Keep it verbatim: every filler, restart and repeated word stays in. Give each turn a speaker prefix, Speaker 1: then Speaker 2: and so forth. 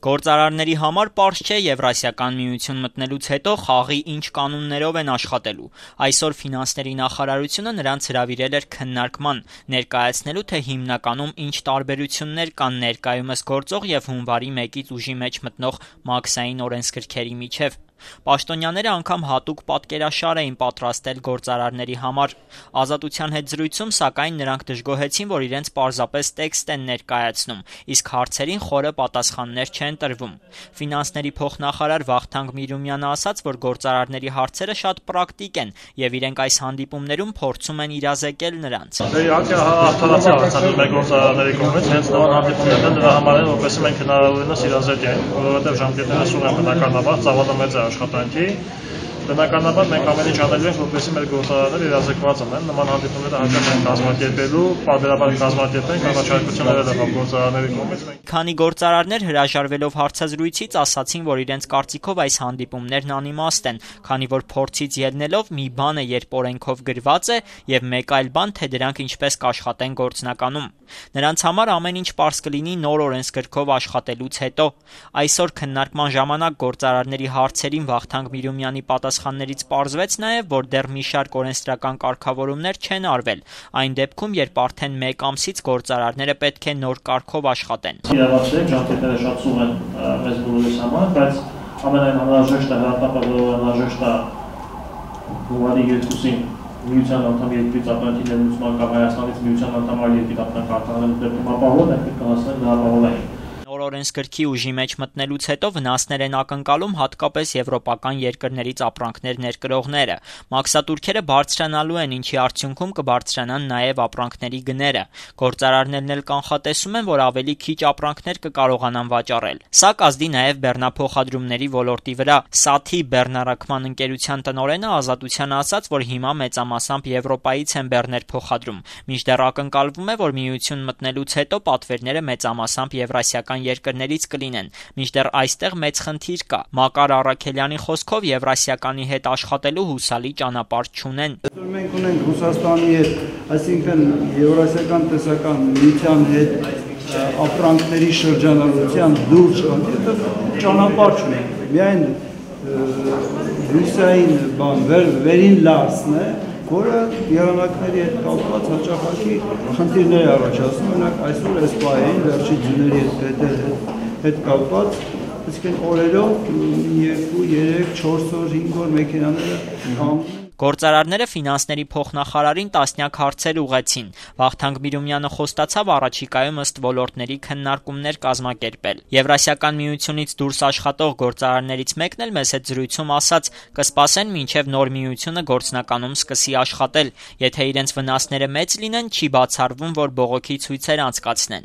Speaker 1: Գործարարների համար պարզ չէ Եվրասիական միություն մտնելուց հետո խաղի ինչ կանոններով են աշխատելու։ Այսօր ֆինանսների նախարարությունը նրանց հրավիրել էր քննարկման, ներկայացնելու, թե հիմնականում ինչ տարբերություններ կան ներկայումս գործող և հունվարի մեկից ուժի մեջ մտնող մաքսային օրենսգրքերի միջև։ Պաշտոնյաները անգամ հատուկ պատկերաշար էին պատրաստել գործարարների համար։ Ազատության հետ զրույցում, սակայն, նրանք դժգոհեցին, որ իրենց պարզապես տեքստ են ներկայացնում, իսկ հարցերին խորը պատասխաններ չեն տրվում։ Ֆինանսների փոխնախարար Վախթանգ Միրումյանը ասաց, որ գործարարների հարցերը շատ պրակտիկ են և իրենք այս հանդիպումներում փորձում են իրազեկել նրանց։
Speaker 2: Իհարկե հաղթանակի արձանագրում է գործարարների կողմից, հենց նման հանդիպումներն դրա համար են, որպեսզի մենք հնարավորինս իրազեկենք, որովհետև ժամկետները սուր են բնականաբար, ծավալը մեծ է աշխատանքի։ Բնականաբար մենք ամեն ինչ անելու ենք, որպեսզի մեր գործարարները իրազեկված լինեն, նման հանդիպումները հարկավոր են կազմակերպելու, պարբերաբար կազմակերպենք առաջարկություններ եղավ գործարարների կողմից։
Speaker 1: Քանի գործարարներ հրաժարվելով հարցազրույցից ասացին, որ իրենց կարծիքով այս հանդիպումներն անիմաստ են, քանի որ փորձից ելնելով մի բան է, երբ օրենքով գրված է, և մեկ այլ բան, թե դրանք ինչպես կաշխատեն գործնականում։ Նրանց համար ամեն ինչ պարզ կլինի նոր օրենսգրքով աշխատելուց հետո։ Այսօր քննարկման ժամանակ գործարարների հարցերին Վախթանգ Միրումյանի պատասխաններից պարզվեց նաև, որ դեռ մի շարք օրենսդրական կարգավորումներ չեն արվել, այն դեպքում, երբ արդեն մեկ ամսից գործարարները պետք է նոր կարգով աշխատեն։
Speaker 2: Իրավացիորեն ժամկետները շատ սուր են մեզ բոլորիս համար, բայց ամենայն անհրաժեշտը հրատապը անհրաժեշտ է հունվարի երկուսին միության անդամ երկրից ապրանքի ներմուծման կամ Հայաստանից միության անդամ այլ երկրի ապրանք արտահանելու դեպքում ապահովում ենք կհասնեն նահանգային։
Speaker 1: Նոր օրենսգրքի ուժի մեջ մտնելուց հետո վնասներ են ակնկալում հատկապես եվրոպական երկրներից ապրանքներ ներկրողները։ Մաքսատուրքերը բարձրանալու են, ինչի արդյունքում կբարձրանան նաև ապրանքների գները։ Գործարարներն էլ կանխատեսում են, որ ավելի քիչ ապրանքներ կկարողանան վաճառել։ Սա կազդի նաև բեռնափոխադրումների ոլորտի վրա։ Սաթի բեռնառաքման ընկերության տնօրենը Ազատությանը ասաց, որ հիմա մեծամասամբ Եվրոպայից են բեռներ փոխադրում, մինչդեռ ակնկալվում է, որ միություն մտնելուց հետո պատվերները մեծամասամբ եվրասիական երկրներից կլինեն, մինչդեռ այստեղ մեծ խնդիր կա։ Մակար Առաքելյանի խոսքով Եվրասիականի հետ աշխատելու հուսալի ճանապարհ չունեն։
Speaker 3: Մենք ունենք Ռուսաստանի հետ, այսինքն Եվրասիական տեսական միության հետ ապրանքների շրջանառության դուրս ճանապարհ չունենք։ Միայն Ռուսիային բան վերին լարսն է, որը եղանակների հետ կապված հաճախակի խնդիրներ է առաջացնում, մենակ այսօր այս պահին վերջի ձյուների հետ կապված, այսինքն օրերով երկու, երեք, չորս օր, հինգ օր մեքենաները հանգում են։
Speaker 1: Գործարարները ֆինանսների փոխնախարարին տասնյակ հարցեր ուղղեցին։ Վախթանգ Միրումյանը խոստացավ առաջիկայում ըստ ոլորտների քննարկումներ կազմակերպել։ Եվրասիական միությունից դուրս աշխատող գործարարներից մեկն էլ մեզ հետ զրույցում ասաց, կսպասեն մինչև նոր միությունը գործնականում սկսի աշխատել։ Եթե իրենց վնասները մեծ լինեն, չի բացառվում, որ բողոքի ցույցեր անցկացնեն։